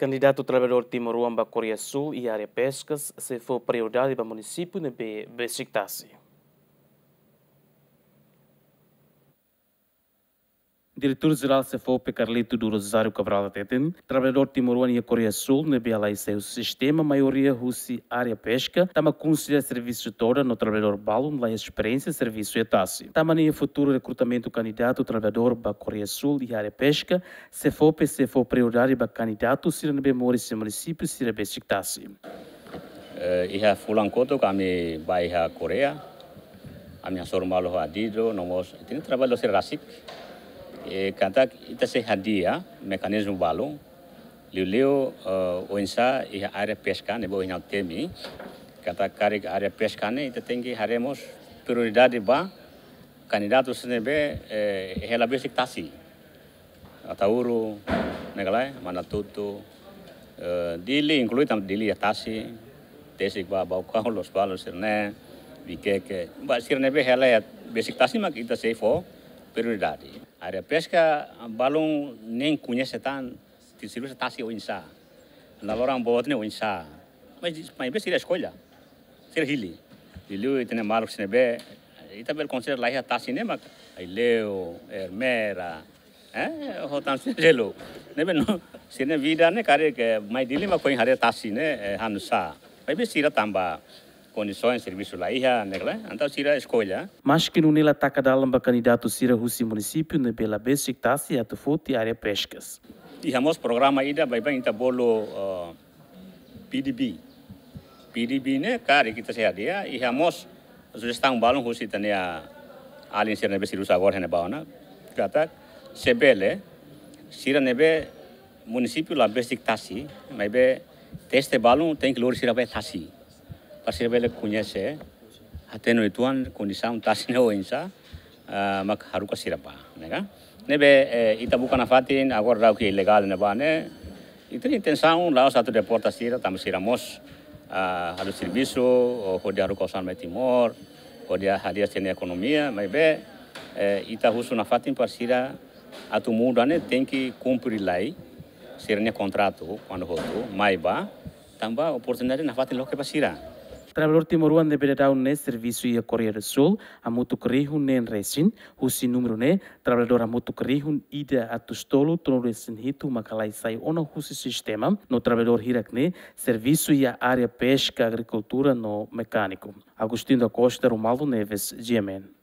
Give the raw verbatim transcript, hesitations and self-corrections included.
Kandidatu traballadór timoroan ba Koreia Súl iha área peskas sei fó prioridade ba munisípiu ne'ebé besik tasi. Diretór Jerál SEFOPE Carlito do Rosário Cabral hateten, traballadór timoroan iha Koreia Súl ne'ebé halai sai husi sistema maioria husi área peska, tanba konsidera servisu todan no traballadór balun la iha esperiénsia servisu iha tasi. Tanba ne'e iha futuru rekrutamentu kandidatu traballadór ba Koreia Súl iha área peska, SEFOPE sei fó prioridade ba kandidatu sira ne'ebé moris iha munisípiu sira besik tasi. Eh, iha fulan kotuk ami bá iha Koreia, ami hasoru malu ho adidu, no mós, ita-nia traballu sira rasik. Eh, katak ita sei hadi'a mekanizmu balun, liuliu, eh, oinsá iha área peska, ne'ebé ohin ha'u temi, katak karik área peska ne'e, ita tenke haree mós prioridade ba kandidatu sira ne'ebé, eh, hela besik tasi. Ataúru, ne'e ka lae, Manatuto, eh, Dili, inklui tanba Dili iha tasi, tesik ba Baucau, Lospalos sira-ne'e, Viqueque, ba sira ne'ebé hela iha besik tasi mak ita sei fó prioridade. Área peska, balun nein koñese tan, ti servisu tasi oinsá. Laloran boot ne'e oinsá. Mas, maibé sira eskolla. Sira hili. Liuliu ita-nia maluk sira ne'ebé, ita bele konsidera la iha tasi ne'e mak Aileu, Ermera, eh, ho tan sira seluk. Ne'ebé no, sira-nia vida ne'e karik mai Dili mak foin haree tasi ne'e, eh, hanusá. Maibé sira tanba kondisaun servisu la iha, ne'e ka lae, entaun sira eskolla. Maski nune'e la taka dalan ba kandidatu sira husi munisípiu ne'ebé la besik tasi atu foti área peskas. Iha mós programa ida, baibain ita bolu, eh, P D B. P D B ne'e karik ita sei hadi'a, iha mós sujestaun balun husi ita-nia alin sira ne'ebé servisu agora iha ne'ebá ona. Katak, se bele, sira ne'ebé munisípiu la besik tasi, maibé teste balun tenke lori sira bá iha tasi. Para sira bele koñese, hatene uitoan kondisaun tasi ne'e oinsá, ah, mak haruka sira bá, ne'e ka? Ne'ebé, eh, ita buka nafatin, agora daudaun ilegál ne'ebá ne'e, ita-nia intensaun la'ós atu deporta sira, tanba sira mós, ah, halo servisu, hodi haruka osan mai Timor, hodi hadi'a sira-nia ekonomia, maibé, eh, ita husu nafatin para sira atu muda ne'e tenke kumpre lai, sira-nia kontratu, kuandu hotu, mai bá, tanba oportunidade nafatin loke ba sira. Traballadór timoroan ne'ebé daudaun ne'e servisu iha Koreia do Súl, hamutuk rihun neen resin, husi númeru ne'e, traballadór hamutuk rihun ida atus tolu tolu resin hitu mak halai sai ona husi sistema, no traballadór hirak ne'e, servisu iha área peska, agrikultura no mekániku. Agostinho da Costa, Romualdo Neves, G M N.